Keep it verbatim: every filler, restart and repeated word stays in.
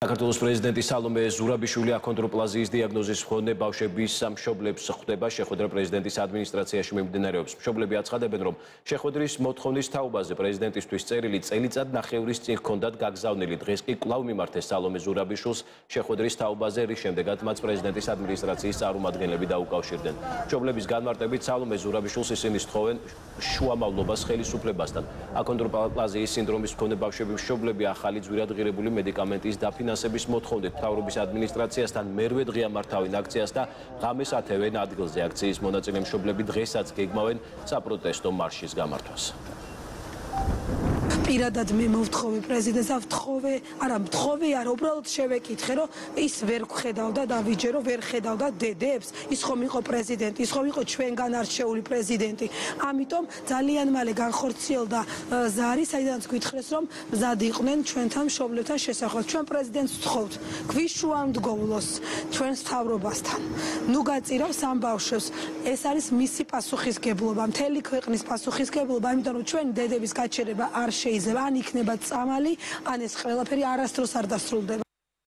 საქართველოს პრეზიდენტი სალომე ზურაბიშვილი აქონდროპლაზიის დიაგნოზის მქონე ბავშვების მშობლებს ხვდება შეხვედრა პრეზიდენტის ადმინისტრაციაში მიმდინარეობს. მშობლები აცხადებენ, რომ შეხვედრის მოთხოვნის თაობაზე პრეზიდენტისთვის წერილი წელიწად ნახევრის წინ ჰქონდათ გაგზავნილი. დღეს კი კვლავ მიმართეს სალომე ზურაბიშვილს შეხვედრის თაობაზე, რის შემდეგაც მათ პრეზიდენტის ადმინისტრაციის წარმომადგენლები დაუკავშირდნენ. მშობლების განმარტებით სალომე ზურაბიშვილს ისინი სთხოვენ შუამავლობას ხელისუფლებასთან. აქონდროპლაზიის სინდრომის მქონე ბავშვების მშობლები ახალი ძვირადღირებული მედიკამენტის დაფინანსებას ფინანსების მოთხოვნით მთავრობის ადმინისტრაციასთან მერვე დღეა მართავენ აქციას და ღამეს ათევენ ადგილზე. აქციის მონაწილე მშობლები დღესაც გეგმავენ საპროტესტო მარშის გამართვას. პირადად მე მოვთხოვე პრეზიდენტს, ავთხოვე, არა მთხოვე, არა უბრალოდ შევეკითხე, რომ ის ვერ ხედავდა და ვიჯერო ვერ ხედავდა დედებს, ის ხომ იყო პრეზიდენტი, ის ხომ იყო ჩვენგან არჩეული პრეზიდენტი. ამიტომ ძალიან მალე განხორციელდა ზარი, საიდანაც გითხრეს, რომ მზად იყვნენ ჩვენთან მშობლებთან შესახვევად. ჩვენ პრეზიდენტს ვთხოვთ, გვიშუამდგოვლოს ჩვენს მთავრობასთან. ნუ გაწირავს ამ ბავშვებს. ეს არის მისი პასუხისგებლობა, მთელი ქვეყნის პასუხისგებლობა, იმიტომ რომ ჩვენი დედების გაჩერება არ შეიძლება. ან იქნება წამალი, ან ეს ყველაფერი არასდროს არ დასრულდება.